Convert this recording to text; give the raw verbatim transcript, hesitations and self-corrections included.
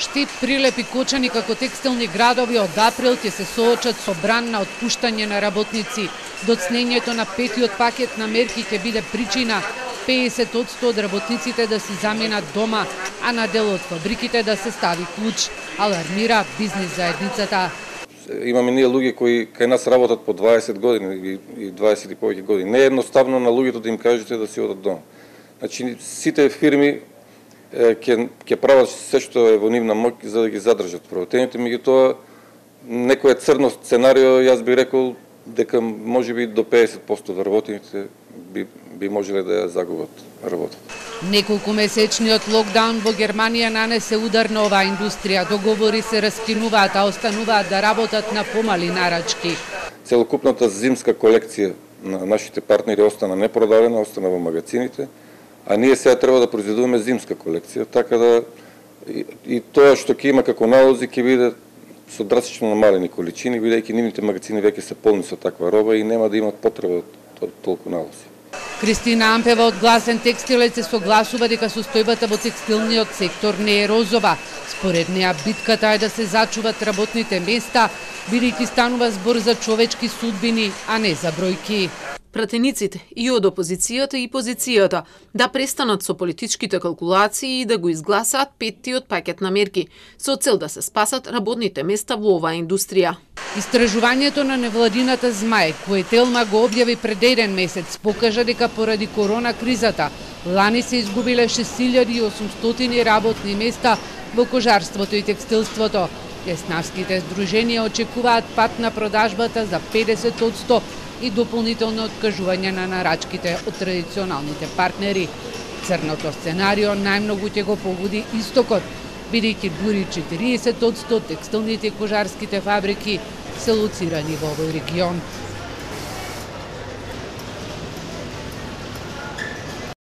Штип, Прилеп и Кочани како текстилни градови од април ќе се соочат со бран на отпуштање на работници. Доцнењето на петиот пакет на мерки ќе биде причина педесет одсто од работниците да си заменат дома, а на дел од фабриките да се стави клуч, алармира бизнис заедницата. Имаме ние луѓе кои кај нас работат по дваесет години и дваесет и повеќе години. Не е едноставно на луѓето да им кажете да си одат дома. Значи сите фирми ќе ќе прават се што е во нивна моќ за да ги задржат правотените, меѓутоа некој црно сценарио, јас би рекол дека можеби до педесет одсто од работените би би можеле да ја загубат работата. Неколку месечниот локдаун во Германија нанесе удар на оваа индустрија. Договори се раскинуваат, а остануваат да работат на помали нарачки. Целокупната зимска колекција на нашите партнери остана непродадена, остана во магазините, а ние сега треба да произведуваме зимска колекција, така да и, и тоа што ќе има како налози ќе биде со драстично намалени количини, бидејќи нивните магазини веќе се полни со таква роба и нема да имат потреба од толку налози. Кристина Ампева од Гласен текстилец се согласува дека состојбата во текстилниот сектор не е розова. Според неа битката е да се зачуват работните места, бидејќи станува збор за човечки судбини, а не за бројки. Пратениците и од опозицијата и позицијата да престанат со политичките калкулации и да го изгласаат петтиот пакет на мерки, со цел да се спасат работните места во оваа индустрија. Истражувањето на невладината Змај, кое Телма го објави пред еден месец, покажа дека поради корона кризата лани се изгубиле шест илјади и осумстотини работни места во кожарството и текстилството. Теснавските здруженија очекуваат пат на продажбата за педесет одсто и дополнително откажување на нарачките од традиционалните партнери. Црното сценарио најмногу ќе го погоди истокот, бидејќи дури четириесет одсто текстилните и кожарските фабрики се лоцирани во овој регион.